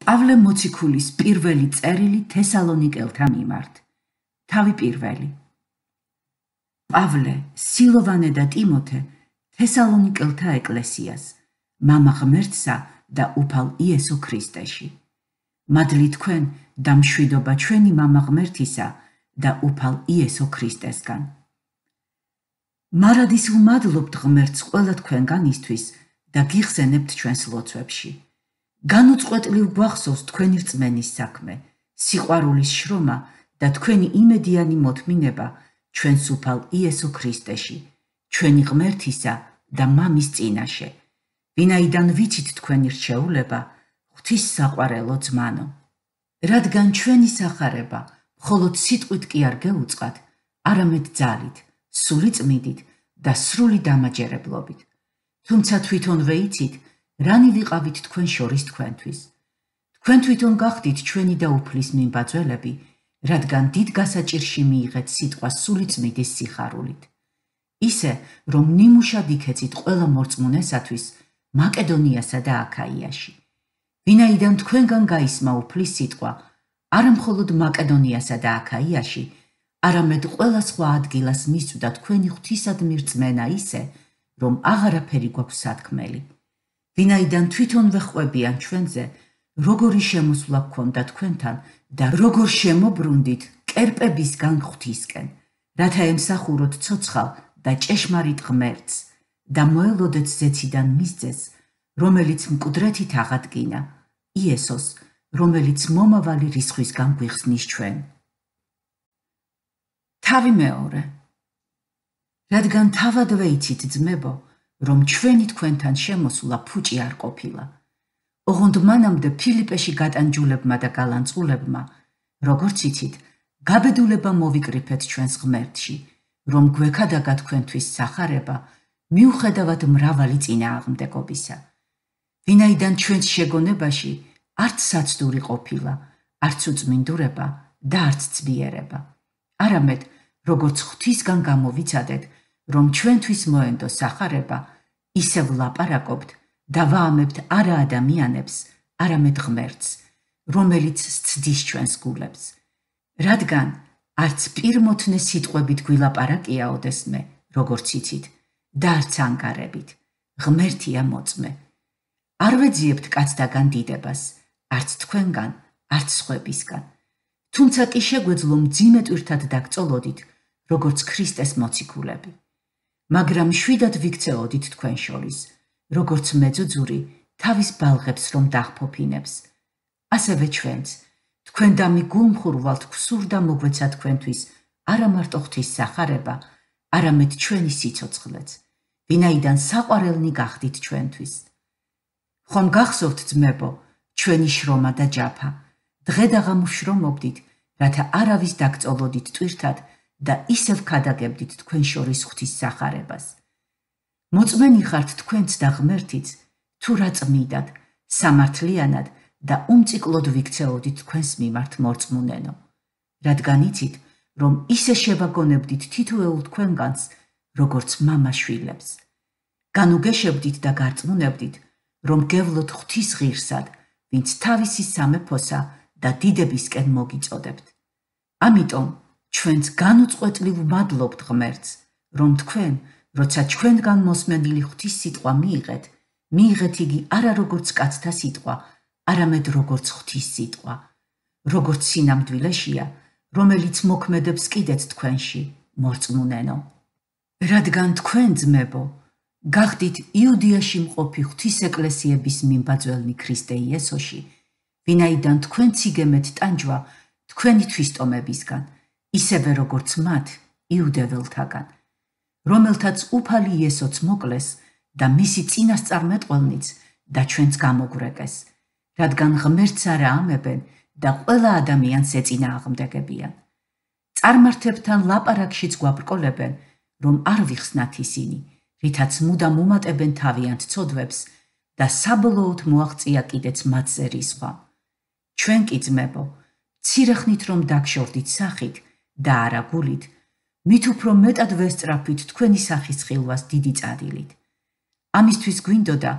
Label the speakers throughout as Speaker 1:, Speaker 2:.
Speaker 1: პავლე მოციქულის პირველი წერილი თესალონიკელთა მიმართ. თავი პირველი. პავლე, სილოვანე და ტიმოთე თესალონიკელთა ეკლესიას, მამა ღმერთსა და უფალ იესო ქრისტეში. მადლი თქვენ და მშვიდობა ჩვენი მამა ღმერთისა და უფალ იესო ქრისტესგან. მარადის ვმადლობთ ღმერთს ყველა თქვენგანისთვის და გიხსენებთ ჩვენს ლოცვებში. განუწყვეტლივ გვახსოვს თქვენი რწმენის საქმე, სიყვარულის შრომა და თქვენი იმედიანი მოთმინება ჩვენს უფალ იესო ქრისტეში, ჩვენი ღმერთისა და მამის წინაშე, ვინაიდან ვიცით თქვენი რჩეულება, ღვთის საყვარელო ძმანო. რადგან ჩვენი სახარება მხოლოდ სიტყვით კი არ გეუწყათ, არამედ ძალით, სული წმიდით და სრული დამაჯერებლობით. თუმცა თვითონვე იცით, რანი ვიყავით თქვენ შორის თქვენთვის. თქვენ თვითონ გახდით ჩვენი და უფლის მიმბაძველები, რადგან დიდ გასაჭირში მიიღეთ სიტყვა სული წმიდის სიხარულით. ისე, რომ ნიმუშად იქეცით ყველა მორწმუნესათვის მაკედონიასა და აქაიაში. ვინაიდან თქვენგან გაისმა უფლის სიტყვა, არა მხოლოდ მაკედონიასა და აქაიაში, არამედ ყველა სხვა ადგილას მისწვდა თქვენი ღვთისადმი რწმენა ისე, რომ აღარაფერი გვაქვს სათქმელი. ვინაიდან თვითონვე ხვებიან ჩვენზე, როგორი შემოსვლა გქონდა თქვენთან და როგორ შემობრუნდით კერპებისგან ღვთისკენ, რათა ემსახუროთ ცოცხალ და ჭეშმარიტ ღმერთს და მოელოდეთ ზეციდან მის ძეს, რომელიც მკვდრეთით აღადგინა, იესოს, რომელიც მომავალი რისხვისგან გვიხსნის ჩვენ. თავი მეორე. რადგან თავადვე იცით ძმებო, რომ ჩვენი თქვენთან შემოსვლა ფუჭი არ ყოფილა. ოღონდ მანამდე ფილიპეში გატანჯულებმა და გალანწყულებმა, როგორც იცით, გაბედულება მოვიკრიფეთ ჩვენს ღმერთში, რომ გვექადაგა თქვენთვის სახარება, მიუხედავად მრავალი წინააღმდეგობისა. ვინაიდან ჩვენს შეგონებაში არც საცდური ყოფილა, არც უწმინდურება და არც ძბიერება. არამედ, როგორც ღვთისგან გამოვიცადეთ, რომ ჩვენთვის მოენდო სახარება, ისევ ლაპარაკობთ და ვაამებთ არა ადამიანებს, არამედ ღმერთს, რომელიც სცდის ჩვენს გულებს. რადგან არც პირმოთნე სიტყვებით გვილაპარაკია ოდესმე, როგორც იცით, და არც ანგარებით, ღმერთია მოწმე. არ ვეძიებთ კაცთაგან დიდებას, არც თქვენგან, არც სხვებისგან. თუმცა კი შეგვეძლო მძიმე ტვირთად დაგწოლოდით, როგორც ქრისტეს მოციქულები. მაგრამ შვიდად ვიქცეოდით თქვენ შორის, როგორც მეძუძური თავის ბალღებს რომ დახფოფინებს. ასევე ჩვენც, თქვენ დამი გულმხურვალთ გვსურ და მოგვეცა თქვენთვის არა მარტო ღვთის სახარება, არამედ ჩვენი სიცოცხლეც, ვინაიდან საყვარელნი გახდით ჩვენთვის. ხომ გახსოვთ ძმებო, ჩვენი შრომა და ჯაფა, დღე და ღამე ვშრომობდით, რათა არავის დაგწოლოდით ტვირთად და ისევ ქადაგებდით თქვენ შორის ღვთის სახარებას. მოწმენი ხართ თქვენც და ღმერთიც, თუ რა წმიდად, სამართლიანად და უმციკლოდ ვიქცეოდით თქვენს მიმართ მორწმუნენო. რადგან იცით, რომ ისე შევაგონებდით თითოეულ თქვენგანს, როგორც მამა შვილებს. განუგეშებდით და გარწმუნებდით, რომ გევლოთ ღვთის ღირსად, ვინც თავისი სამეფოსა და დიდებისკენ მოგიწოდებთ. ამიტომ ჩვენც განუწყვეტლივ ვმადლობთ ღმერთს, რომ თქვენ, როცა ჩვენგან მოსმენილი ღვთის სიტყვა მიიღეთ იგი არა როგორც კაცთა სიტყვა, არამედ როგორც ღვთის სიტყვა, როგორც სინამდვილეშია, რომელიც მოქმედებს კიდეც თქვენში, მორწმუნენო. რადგან თქვენ ძმებო, გახდით იუდიაში მყოფი ღვთის ეკლესიების მიმბაძველნი ქრისტე იესოში, ვინაიდან თქვენც იგემეთ ტანჯვა თქვენი თვისტომებისგან, ისევე როგორც მათ იუდეველთაგან, რომელთაც უფალი იესოც მოკლეს და მისი წინასწარმეტყველნიც და ჩვენც გამოგვრეკეს, რადგან ღმერთს არა ამებენ და ყველა ადამიანს ეწინააღმდეგებიან. წარმართებთან ლაპარაკშიც გვაბრკოლებენ, რომ არ ვიხსნათ ისინი, რითაც მუდამ უმატებენ თავიანთ ცოდვებს და საბოლოოდ მოაღწია კიდეც მათზე რისხვა. ჩვენ კი ძმებო, მცირე ხნით რომ დაგშორდით სახით და არა გულით, მით უფრო მეტად ვესწრაფვით თქვენი სახის ხილვას დიდი წადილით. ამისთვის გვინდოდა,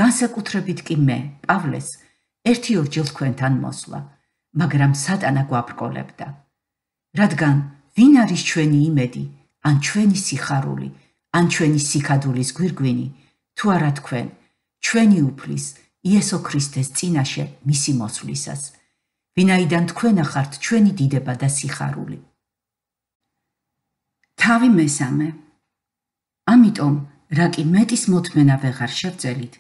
Speaker 1: განსაკუთრებით კი მე, პავლეს, 1-2 თქვენთან მოსვლა, მაგრამ სატანა გვაბრკოლებდა. რადგან ვინ არის ჩვენი იმედი, ან ჩვენი სიხარული, ან ჩვენი სიქადულის გვირგვინი, თუ არა თქვენ, ჩვენი უფლის, იესო ქრისტეს წინაშე მისი მოსვლისას, ვინაიდან თქვენ ახართ ჩვენი დიდება და სიხარული. თავი მესამე. ამიტომ, რა კი მეტის მოთმენა ვეღარ შევძელით,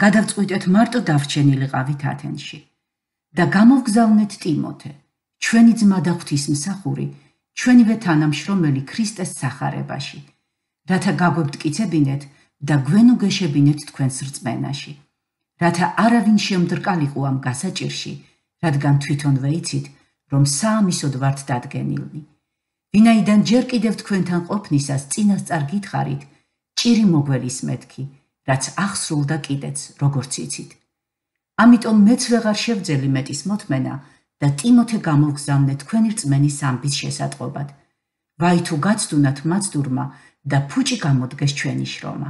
Speaker 1: გადავწყვიტეთ მარტო დავრჩენილიყავით ათენში და გამოვგზავნეთ ტიმოთე, ჩვენი ძმა და ღვთისმსახური, ჩვენივე თანამშრომელი ქრისტეს სახარებაში, რათა გაგვებტკიცებინეთ და გვენუგეშებინეთ თქვენს რწმენაში, რათა არავინ შემდრკალიყო ამ გასაჭირში, რადგან თვითონვე იცით, რომ საამისოდ ვართ დადგენილნი. ვინაიდან ჯერ კიდევ თქვენთან ყოფნისას წინასწარ გითხარით, ჭირი მოგველისმეთქი, რაც ახსრულდა კიდეც, როგორც იცით. ამიტომ მეც ვეღარ შევძელი მეტის მოთმენა და ტიმოთე გამოვგზავნეთ თქვენი რწმენის ამბის შესატყობად. ვაი თუ გაცდუნათ მაცდურმა და ფუჭი გამოდგეს ჩვენი შრომა.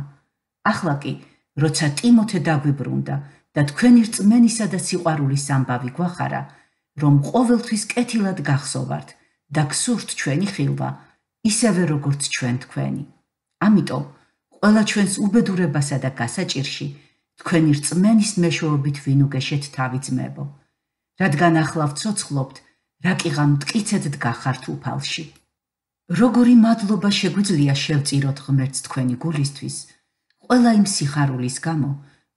Speaker 1: ახლა კი, როცა ტიმოთე დაგვიბრუნდა და თქვენი რწმენისა და სიყვარულის ამბავი გვახარა, რომ ყოველთვის კეთილად გახსოვართ და გსურთ ჩვენი ხილვა, ისევე როგორც ჩვენ თქვენი. ამიტომ, ყველა ჩვენს უბედურებასა და გასაჭირში, თქვენი რწმენის მეშვეობით ვინუგეშეთ თავი ძმებო, რადგან ახლა ვცოცხლობთ, რა კიღამ მტკიცედ დგახართ უფალში. როგორი მადლობა შეგვიძლია შევწიროთ ღმერთს თქვენი გულისთვის, ყველა იმ სიხარულის გამო,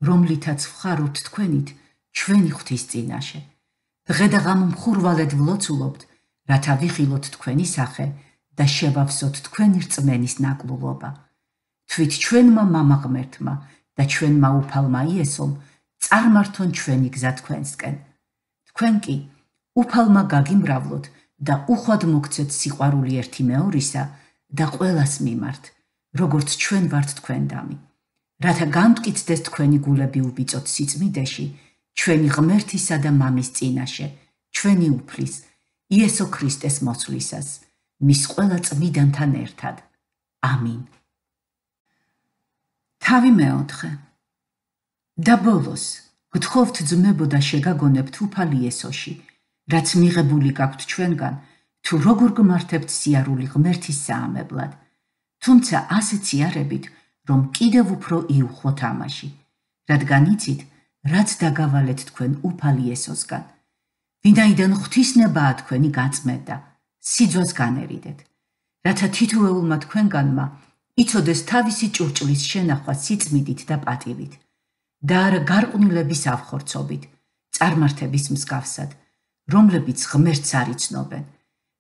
Speaker 1: რომლითაც ვხარობთ თქვენით ჩვენი ღვთის წინაშე. დღე და ღამე მხურვალედ ვლოცულობთ, რათა ვიხილოთ თქვენი სახე და შევავსოთ თქვენი რწმენის ნაკლულობა. თვით ჩვენმა მამა ღმერთმა და ჩვენმა უფალმა იესომ წარმართონ ჩვენი გზა თქვენსკენ. თქვენ კი უფალმა გაგიმრავლოთ და უხვად მოგცეთ სიყვარული ერთი მეორისა და ყველას მიმართ, როგორც ჩვენ ვართ თქვენდამი, რათა გამტკიცდეს თქვენი გულები უბიწოთ სიწმიდეში, ჩვენი ღმერთისა და მამის წინაშე, ჩვენი უფლის, იესო ქრისტეს მოსვლისას, მის ყველა წმიდანთან ერთად. ამინ. თავი მეოთხე. და ბოლოს, გთხოვთ ძმებო და შეგაგონებთ უფალი იესოში, რაც მიღებული გაქვთ ჩვენგან, თუ როგორ გმართებთ სიარული ღმერთის საამებლად, თუმცა ასეთ სიარებით, რომ კიდევ უფრო იუხვოთ ამაში, რადგან იცით, რაც დაგავალეთ თქვენ უფალი იესოსგან. ვინაიდან ღვთისნებაა თქვენი გაწმენდა, სიძვას განერიდეთ, რათა თითოეულმა თქვენგანმა იცოდეს თავისი ჭურჭლის შენახვა სიწმიდით და პატივით, და არა გარყვნილების ავხორცობით, წარმართების მსგავსად, რომლებიც ღმერთს არ იცნობენ,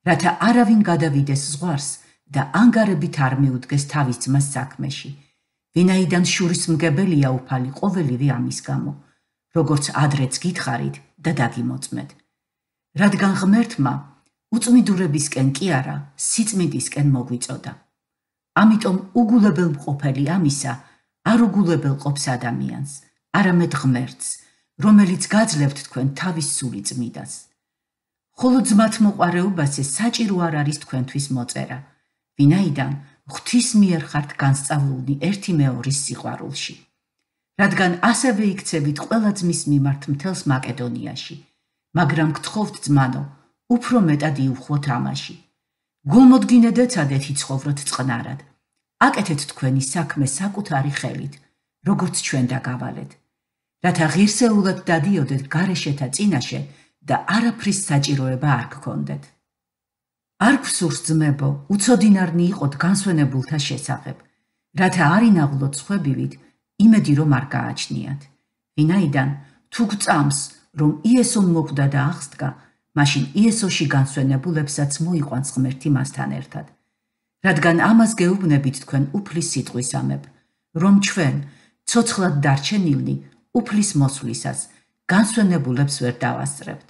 Speaker 1: რათა არავინ გადავიდეს ზღვარს და ანგარებით არ მიუდგეს თავის ძმას საქმეში, ვინაიდან შურისმგებელია უფალი ყოველივე ამის გამო, როგორც ადრეც გითხარით და დაგიმოწმეთ. რადგან ღმერთმა უწმიდურებისკენ კი არა, სიწმიდისკენ მოგვიწოდა. ამიტომ უგულებელმყოფელი ამისა არ უგულებელყოფს ადამიანს, არამედ ღმერთს, რომელიც გაძლევთ თქვენ თავის სული წმიდას. ხოლო ძმათ მოყვარეობაზე საჭირო არ არის თქვენთვის მოწერა, ვინაიდან ღვთის მიერ ხართ განსწავლულნი ერთი მეორის სიყვარულში. რადგან ასევე იქცევით ყველა ძმის მიმართ მთელს მაკედონიაში, მაგრამ გთხოვთ ძმანო, უფრო მეტად იუხვოთ ამაში. გულმოდგინედ ეცადეთ იცხოვროთ წყნარად. აკეთეთ თქვენი საქმე საკუთარი ხელით, როგორც ჩვენ დაგავალეთ, რათა ღირსეულად დადიოდეთ გარეშეთა წინაშე და არაფრის საჭიროება არ გქონდეთ. არ გვსურს ძმებო, უცოდინარნი იყოთ განსვენებულთა შესახებ, რათა არ ინაღვლოთ სხვებივით, იმედი რომ არ გააჩნიათ. ვინაიდან თუ გწამს, რომ იესომ მოკვდა და აღსდგა, მაშინ იესოში განსვენებულებსაც მოიყვანს ღმერთი მასთან ერთად. რადგან ამას გეუბნებით თქვენ უფლის სიტყვისამებ, რომ ჩვენ, ცოცხლად დარჩენილნი, უფლის მოსვლისას, განსვენებულებს ვერ დავასწრებთ.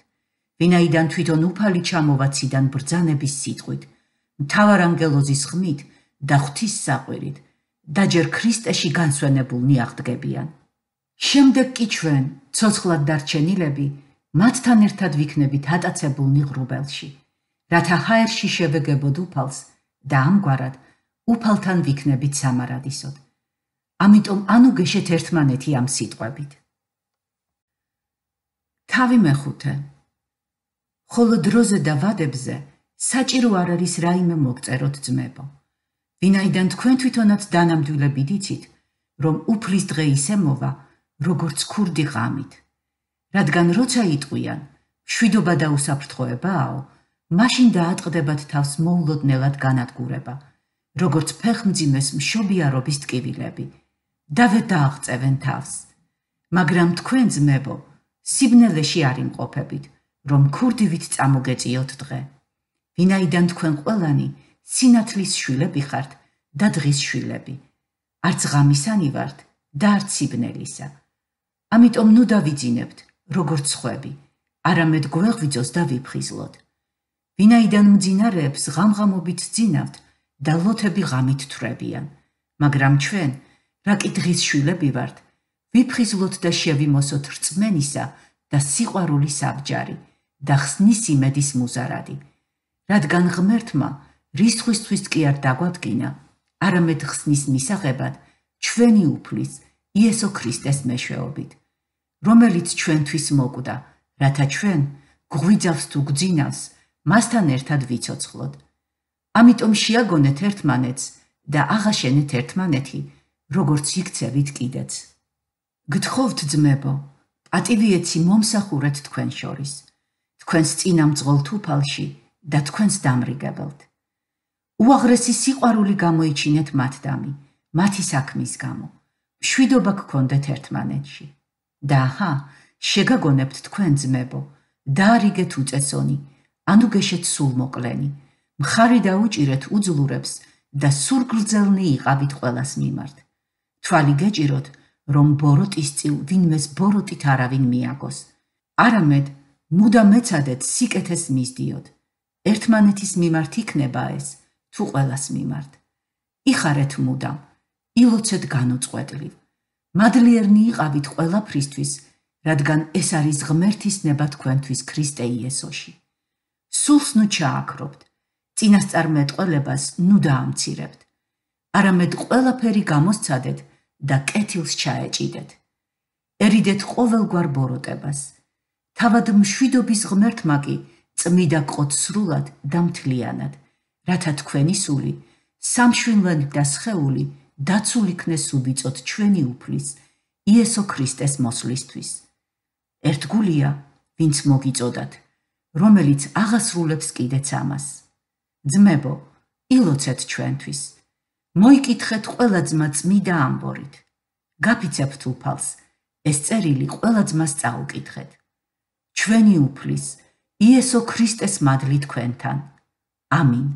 Speaker 1: ვინაიდან თვითონ უფალი ჩამოვა ციდან ბრძანების სიტყვით, მთავარ ანგელოზის ხმით და ღვთის საყვირით, და ჯერ ქრისტეში განსვენებულნი აღდგებიან. შემდეგ კი ჩვენ, ცოცხლად დარჩენილები, მათთან ერთად ვიქნებით ატაცებულნი ღრუბელში, რათა ჰაერში შევეგებოდ უფალს და ამგვარად უფალთან ვიქნებით სამარადისოდ. ამიტომ ანუგეშეთ ერთმანეთი ამ სიტყვებით. თავი მეხუთე. ხოლო დროზე და ვადებზე საჭირო არ არის რაიმე მოგწეროთ ძმებო. ვინაიდან თქვენ თვითონაც დანამდვილებით იცით, რომ უფლის დღე ისე მოვა, როგორც ქურდი ღამით. რადგან როცა იტყვიან, მშვიდობა და უსაფრთხოებაო, მაშინ დაატყდებათ თავს მოულოდნელად განადგურება, როგორც ფეხმძიმეს მშობიარობის ტკივილები, და ვერ დააღწევენ თავს. მაგრამ თქვენ ძმებო, სიბნელეში არ იმყოფებით, რომ ქურდივით წამოგეწიოთ დღე. ვინაიდან თქვენ ყველანი სინათლის შვილები ხართ და დღის შვილები. არც ღამისანი ვართ და არც სიბნელისა. ამიტომ ნუ დავიძინებთ, როგორც სხვები, არამედ გვეღვიძოს და ვიფხიზლოთ. ვინაიდან მძინარეებს ღამღამობით ძინავთ და ლოთები ღამით თვრებიან, მაგრამ ჩვენ, რა კი დღის შვილები ვართ, ვიფხიზლოთ და შევიმოსოთ რწმენისა და სიყვარულის საბჯარი და ხსნის იმედის მუზარადი. რადგან ღმერთმა რისხვისთვის კი არ დაგვადგინა, არამედ ხსნის მისაღებად ჩვენი უფლის იესო ქრისტეს მეშვეობით, რომელიც ჩვენთვის მოკვდა, რათა ჩვენ გვიძავს თუ გძინავს, მასთან ერთად ვიცოცხლოთ. ამიტომ შეაგონეთ ერთმანეთს და აღაშენეთ ერთმანეთი, როგორც იქცევით კიდეც. გთხოვთ ძმებო, პატივიეცი მომსახურეთ თქვენ შორის, თქვენს წინამძღოლ თუფალში და თქვენს დამრიგებელთ. უაღრესი სიყვარული გამოიჩინეთ მათდამი, მათი საქმის გამო, მშვიდობა გქონდეთ ერთმანეთში. და აჰა, შეგაგონებთ თქვენ ძმებო, დაარიგეთ უწესონი, ანუ გეშეთ სულმოკლენი, მხარი დაუჭირეთ უძლურებს და სულგრძელნი იყავით ყველას მიმართ. თვალი გეჭიროთ, რომ ბოროტის წილ ვინმეს ბოროტით არავინ მიაგოს. არამედ მუდამ მეცადეთ სიკეთეს მისდიოთ. ერთმანეთის მიმართ იქნება ეს, თუ ყველას მიმართ. იხარეთ მუდამ, ილოცეთ განუწყვეტლივ. მადლიერნი იყავით ყველაფრისთვის, რადგან ეს არის ღმერთის ნება თქვენთვის ქრისტე იესოში. სულს ნუ ჩააქრობთ, წინასწარმეტყველებას ნუ დაამცირებთ. არამედ ყველაფერი გამოსცადეთ და კეთილს ჩაეჭიდეთ. ერიდეთ ყოველგვარ ბოროტებას. თავად მშვიდობის ღმერთმა კი წმიდა გყოთ სრულად და მთლიანად, რათა თქვენი სული, სამშვიდობი და სხეული დაცულ იქნეს უბიწოთ ჩვენი უფლის, იესო ქრისტეს მოსვლისთვის. ერთგულია, ვინც მოგიწოდათ, რომელიც აღასრულებს კიდეც ამას. ძმებო, ილოცეთ ჩვენთვის. მოიკითხეთ ყველა ძმა წმიდა ამბორით. გაფიცებთ უფალს, ეს წერილი ყველა ძმას წაუკითხეთ. ჩვენი უფლის, იესო ქრისტეს მადლი თქვენთან. ამინ.